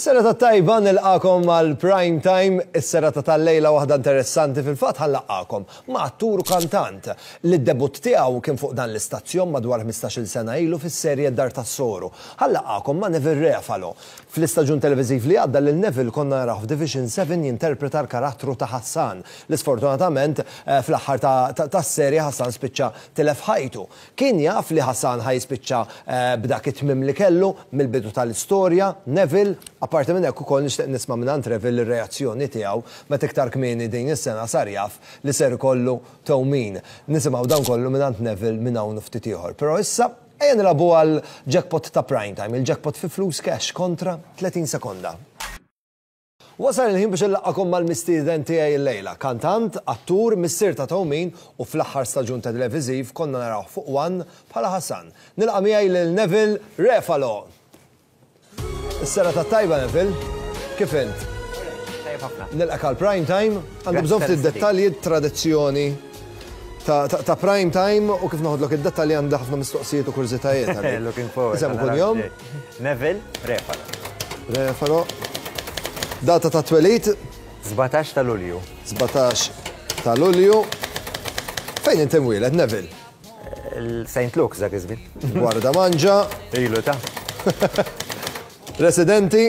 Is-serata t-tajba nilqagħkom għal Prime Time, is-serata tal-lejla waħda interessanti fil-fatt ħa nlaqqagħkom ma' attur u kantant li d-debutt tiegħu kien fuq dan l-istazzjon madwar 15-il sena ilu fis-serje Dar tas-Soru. Ħa nlaqqagħkom ma' Neville Refalo. Fl-istaġun televiżiv li għadda lil Neville konna narawh f'Division 7 jinterpreta l-karattru ta' Hassan li sfortunatament fl-aħħar tas-serje Hassan spiċċa tilef ħajtu. Kien jaf li Hassan ħa jispiċċa b'dak it-tmiem li kellu mill-bidu tal-istorja, Neville. Apparti minn hekk ukoll nixtieq nisma' mingħand Reville ir-reazzjoni tiegħu meta iktar kmieni din is-sena sar jaf li ser ikollu tewmin. Nisimgħu dan kollu mingħand Neville minn hawn u ftit ieħor. Però issa, ejja nilagħbu għall-jackpot ta' Prime Time, il-jackpot fi flus cash kontra 30 sekonda. Wasal il-ħin biex inlaqqagħkom mal-mistieden tiegħi illejla. Kantant, attur, missier ta' tewmin u fl-aħħar staġun televiżiv konna narawh fuq One bħala Hassan. Nilqa' miegħi lil Neville Refalo! Is-serata t-tajba Neville, kif int? Tajjeb ħafna. Nilqgħek għal Prime Time. Għandi bżonn ftit dettalji, tradizzjoni ta' Prime Time u kif noħodlok id-dettalji għandi ħafna mistoqsijiet u kurżitajiet. Looking forward. Isem u kunjom? Neville Refalo. Refalo. Data ta' twelid? 17 ta' Lulju. 17 ta' Lulju. Fejn inti mwieled, Neville? St. Luke's dak iż-żmien. Gwarda Manġa. Ilu ta'. Residenti?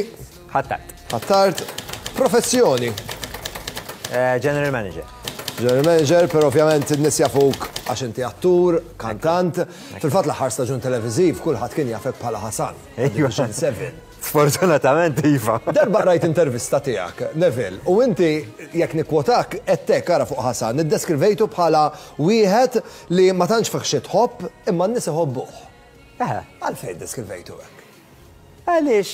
Ħ'Attard. Ħ'Attard. Professjoni? General Manager. General Manager, però ovvjament in-nies jafuk għax inti attur, kantant. Fil-fatt l-aħħar staġun televiżiv kulħadd kien jafek bħala Hasan. Division 7. Sfortunatament iva. Darba qrajt intervista tiegħek, Neville, u inti jekk nikkwotak għedt hekk ara fuq Hasan, iddeskrivejtu bħala wieħed li ma tantx fih xi tħobb imma n-nies iħobbuh. Għalfejn iddeskrivejtu hekk? Għaliex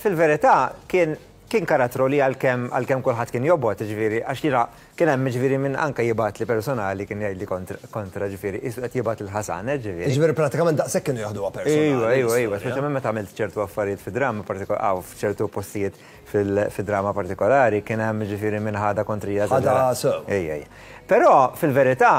fil-verità kien Kien karattru li għalkemm għalkemm kulħadd kien jobgħod, jiġifieri, għax jiena kien hemm jiġifieri min anke jibgħatli personali kien jgħidli kontra kontra jiġifieri qisu qed jibgħat lil Hasan, hekk ġifieri. Jiġifieri pratikament daqshekk kienu jaħduha personali. Ejwa, ejwa, ejwa, speċjalment meta għamilt ċertu affarijiet fi drama partiko hawn f'ċertu postijiet fil fi drama partikolari kien hemm jiġifieri min ħadha kontrija. Ħadha sew. Ejja, ejja. Però fil-verità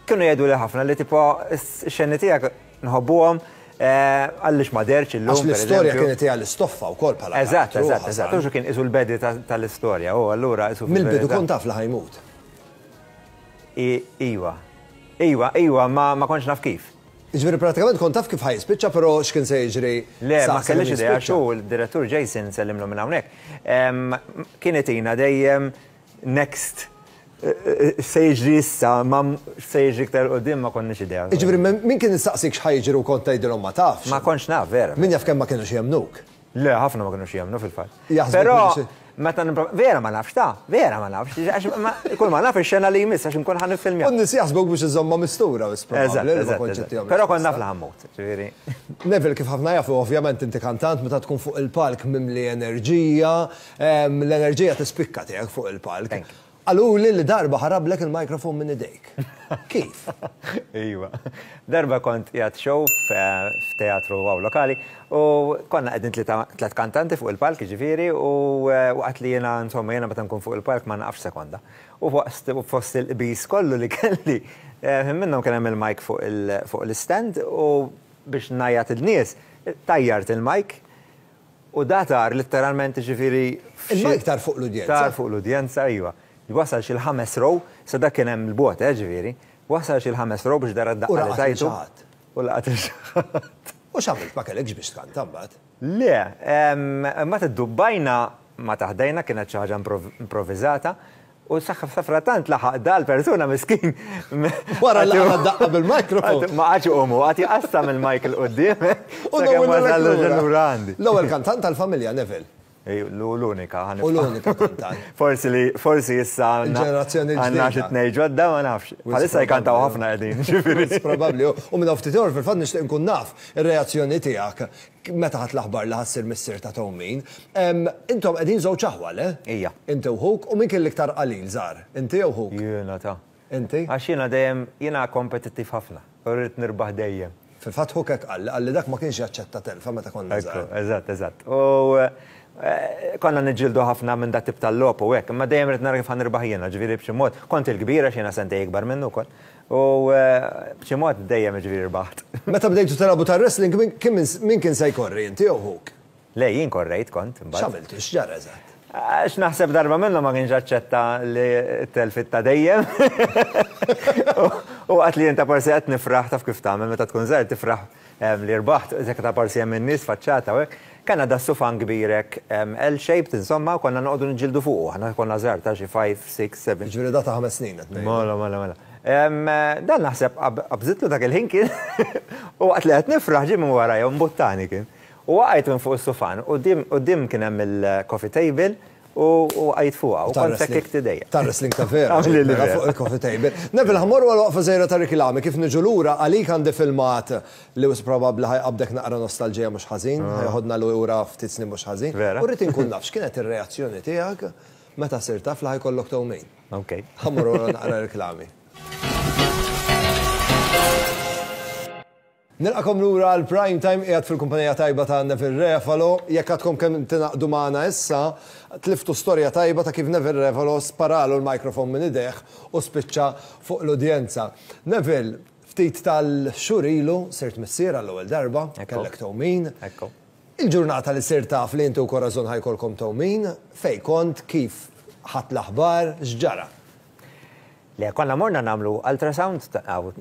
kienu jgħiduli ħafna li tipo x-xeni tiegħek Nħobbuhom, għaliex ma dehrx illum. Għax l-istorja kienet hija l-istoffa wkoll bħala. Eżatt, eżatt, eżatt. Hux kien qisu l-bedi tal-istorja, u allura qisu. Mill-bidu kont taf li ħa jmut. Iwa. Iwa, iwa, ma kontx naf kif. Jiġifieri pratikament kont taf kif ħa jispiċċa, però x'kien se jiġri. Le, ma kellix idea għax hu l-direttur Jason nsellimlu minn hawnhekk. Kien itina dejjem Next. X'se jiġri issa, ma x'se jiġri iktar 'il quddiem ma konniex idea. Jiġifieri min kien isaqsik x'ħa jiġri u kont tgħidilhom ma tafx? Ma kontx naf, vera. Min jaf kemm ma kinux jemmnuk. Le, ħafna ma kinux jemmnu fil-fatt. Jaħsbu Però meta nipprova, vera ma nafx ta, vera ma nafx, għax kull ma naf ix-xena li jmiss għax inkun ħa niffilmja. U n-nies jaħsbuk biex iżommha mistura wisq probabbli li ma kontx ittihom. Però kont naf li ħa mmut, ġifieri. Neville, kif ħafna jafu, ovvjament inti kantant meta tkun fuq il-palk mimli enerġija, L-enerġija tispikka tiegħek fuq il-palk. Qaluli li darba ħarablek il-microphone minn idejk. Kif? Iva. Darba kont qiegħed show f'teatru hawn lokali u konna qegħdin tliet kantanti fuq il-palk jiġifieri u waqt li jiena insomma jiena meta nkun fuq il-palk ma naqafx sekonda. U fost il-qbiż kollu li kelli, ħin minnhom kien hemm il-mic fuq l-istand u biex ngħajjat in-nies tajjart il-mic U da tar litteralment jiġifieri f'xi. Il-mic tar fuq l-udjenza? Tar fuq l-udjenza, iva. Wasal xi l-ħames row, sa dak kien hemm 'l bogħod, eh, ġifieri. Wasal xi l-ħames row biex dara d-daqqa li tajtu. U laqat lil xi ħadd. U laqat lil xi ħadd. U x'għamilt, ma kellekx biex tkanta mbagħad? Le, imbagħad iddubbajna ma ta' ħdejna, kienet xi ħaġa improvviżata, U safrattant laħaq dal-persuna miskin. Wara li għamel daqqa bil-mikrofon. Ma qagħadx iqum hu, qagħad jqassam il-mic 'il quddiem. U sakemm wasal lura għandi. L-ewwel kantant tal-familja, Neville. L-unika. U l-unika kantant. Forsi li, forsi issa għandna. Il-ġenerazzjoni l-ġdida. Għandna xi tnejn ġodda ma nafx. Bħalissa jkantaw ħafna qegħdin, ġifieri. Probabbli. U minn hawn ftit ieħor fil-fatt nixtieq inkun naf ir-reazzjoni tiegħek Meta ħadt l-aħbar li ħa ssir missier ta' tewmin, intom qegħdin żewġ aħwa, le? Ija. Inti u ħuk, u min kien l-iktar qalil żgħar? Inti jew ħuk? Jiena ta. Inti? Għax jiena dejjem, jiena kompetittiv ħafna u rrid nirbaħ dejjem. Fil-fatt ħuk hekk qalli, qalli dak ma kienx jaċċetta telfa meta konna żgħar. Ekku, eżatt, eżatt. U konna niġġieldu ħafna minn dat-tip ta' logħob u hekk, imma dejjem ridt nara kif ħa nirbaħ jiena, ġifieri b'xi mod, kont il-kbir għax jiena sentejn ikbar minnu wkoll. U b'xi mod dejjem jiġifieri rbaħt. Meta bdejtu tilagħbu tar-wrestling, min kien se jkorri, inti jew ħuk? Le, jien korrejt kont imbagħad. X'għamiltu? X'ġara eżatt? Għax naħseb darba minnhom ma kienx aċċetta li t-telfiet ta' dejjem. U waqt li jien ta' parsi qed nifraħ taf kif tagħmel meta tkun żgħir tifraħ li rbaħt, dak ta' parsi hemm in-nies faċċata u hekk. Kellna das-sufan kbir hekk L-shaped insomma u konna noqogħdu niġġieldu fuqu. Aħna konna żgħar ta' xi 5, 6, 7. Jiġifieri da ta' ħames snin qed ngħidu. Mela, mela, mela. Dan naħseb qabżitlu dak il-ħin kien u waqt li qed nifraħ ġie minn warajja u mbuttani kien. U waqajt minn fuq is-sufan, quddiem kien hemm il-coffee table u waqajt fuqha u kont sekkikt idejja. Tar-wrestling ta' vera. Mela fuq il-coffee table. Neville, ħa mmorru għal waqfa żgħira ta' riklami. Kif niġu lura, għalik għandi filmat li wisq probabbli ħa jqabbdek naqra nostalġija mhux ħażin, ħa jeħodna lura ftit snin mhux ħażin. Vera. U rrid inkun naf x'kienet ir-reazzjoni tiegħek meta sirt taf li ħa jkollok tewmin. Ok. Ħa mmorru għal naqra riklami. Nilqakom lura għal Prime Time qiegħed fil-kumpanija tajba ta' Neville Refalo. Jekk għadkom kemm tingħaqdu magħna issa, tliftu storja tajba ta' kif Neville Refalo sparalu l-microphone minn idejh u spiċċa fuq l-udjenza. Neville, ftit tal-xhur ilu sirt missier għall-ewwel darba, kellek tewmin. Ekku. Il-ġurnata li sirt taf li inti u Corazon ħa jkollkom tewmin, fejn kont, kif ħadt l-aħbar, x'ġara? Le, konna morna nagħmlu ultrasound,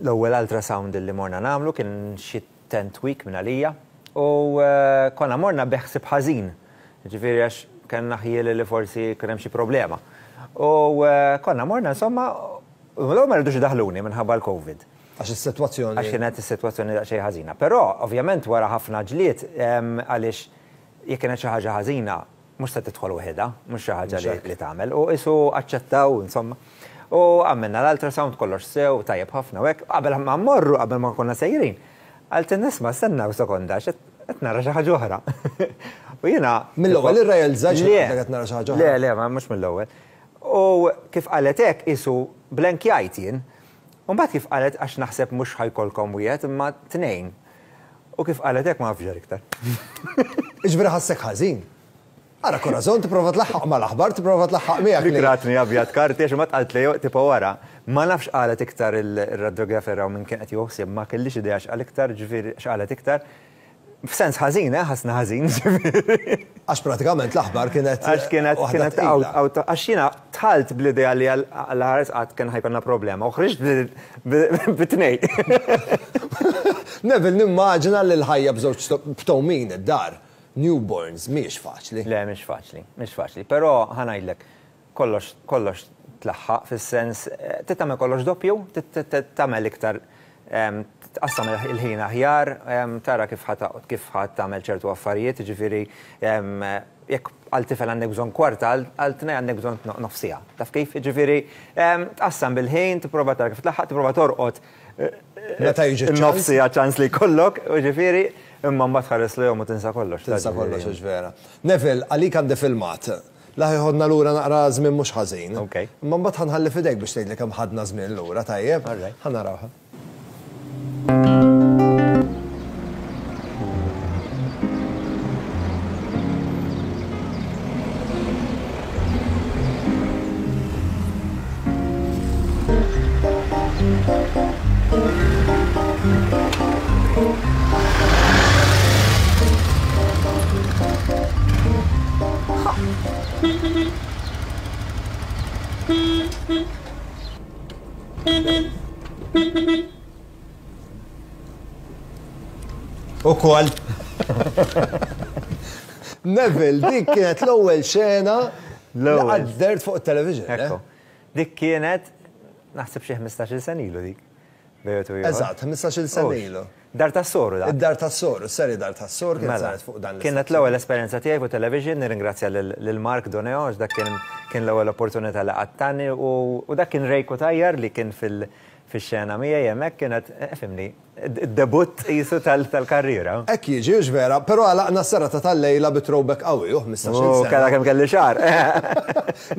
l-ewwel ultrasound li morna nagħmlu kien xi tenth week minn għalija u konna morna bi ħsieb ħażin, jiġifieri għax kellna ħjiel li forsi kien hemm xi problema. U konna morna insomma, u l-ewwel ma ridux idaħħluni minħabba l-Covid. Għax is-sitwazzjoni. Għax kienet is-sitwazzjoni daqsxejn ħażina. Però ovvjament wara ħafna ġlied għaliex jekk kienet xi ħaġa ħażina, Mhux se tidħol waħedha, mhux xi ħaġa li tagħmel. U qisu aċċettaw, insomma. U għamilna l-ultrasound kollox sew, tajjeb ħafna u hekk. Qabel ma mmorru, qabel ma konna sejrin, qaltilna isma' stenna sekonda għax qed nara xi ħaġa oħra. U jiena. Mill-ewwel irrealizzajt li qed nara xi ħaġa oħra. Le, le, ma mhux mill-ewwel. U kif qalet hekk qisu blenkjajt jien. U mbagħad kif qalet għax naħseb mhux ħa jkollkom wieħed imma tnejn. U kif qalet hekk ma nafx ġara iktar. Jiġifieri ħassek ħażin. Ara Corazon tipprova tlaħħaq mal-aħbar, tipprova tlaħħaq miegħek li. Dik ratni abjad karti għax imbagħad qaltli tipo wara. Ma nafx x'qalet iktar ir-radiografer hawn min kien qed jieħu ħsieb, ma kellix idea x'qal iktar, ġifieri x'qalet iktar. F'sens ħażin, eh, ħassni ħażin, ġifieri. Għax pratikament l-aħbar kienet. Għax kienet kienet għax jiena dħalt bl-idea li għal ħares qatt kien ħajkonna problema u ħriġt bi tnejn. Neville, nimmaġina li l-ħajja b'żewġ b'tewmin id-dar, newborns, mhijiex faċli. Le, mhix faċli, mhix faċli. Però ħa ngħidlek, kollox, kollox tlaħħaq fis-sens, trid tagħmel kollox doppju, trid tagħmel iktar, tqassam il-ħin aħjar, tara kif ħa kif ħa tagħmel ċertu affarijiet, jiġifieri jekk għal tifel għandek bżonn kwarta, għal tnejn għandek bżonn nofs siegħa. Taf kif? Jiġifieri tqassam bil-ħin, tipprova tara kif tlaħħaq, tipprova torqod Meta jiġi ċ-ċans. Nofs siegħa ċans li jkollok, jiġifieri, imma mbagħad tħares lejhom u tinsa kollox. Tinsa kollox, hux vera. Neville, għalik għandi filmat. La ħa jħodna lura naqra żmien mhux ħażin. Ok. Imma mbagħad ħa nħalli f'idejk biex tgħidli kemm ħadna żmien lura, tajjeb? All right. Ħa narawha. Ukoll. Neville, dik kienet l-ewwel xena li qatt dehrt fuq it-television. Eh? Ekku. Dik kienet naħseb xi 15-il sena ilu dik. Eżatt, 15-il sena ilu. Dar tas-soru dak. Id-dar tas-soru, is-serje Dar tas-soru kienet saret fuq dan l-istazzjon. Kienet l-ewwel esperjenza tiegħi fuq television, nirringrazzja lil Mark Doneo għax dak kien kien l-ewwel opportunità li qatt tani u dak kien Ray Cutajar li kien fix-xena miegħi hemmhekk kienet, fhimni, id-debutt qisu tal-karriera. Hekk jiġi, hux vera, però għalaqna s-serata tal-lejla bi throwback qawwi, u 15-il sena. U kellha kemm kelli xagħar.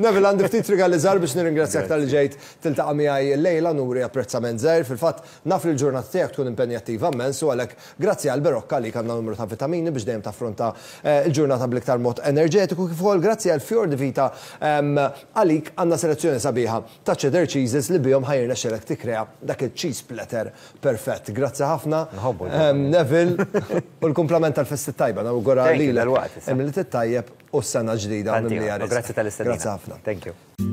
Neville, għandi ftit rigali żgħar biex nirringrazzjak talli ġejt tiltaqa' miegħi llejla, nuri apprezzament żgħir. Fil-fatt, naf li l-ġurnata tiegħek tkun impenjattiva immens u għalhekk grazzi għal Berocca għalik għandna numru ta' vitamini biex dejjem taffronta l-ġurnata bl-iktar mod enerġetiku kif ukoll grazzi għal Fior di Vita għalik għandna selezzjoni sabiħa ta' cheddar cheeses li bihom ħa jirnexxilek tikkrea dak il-cheese platter perfett. Grazzi. Grazzi ħafna. Nħobbu. Neville, u l-kumplament tal-festi tajba, nawgura lilek. Il-Milied it-tajjeb u s-sena ġdida mimlija. Grazzi tal-istedina. Grazzi ħafna. Thank you.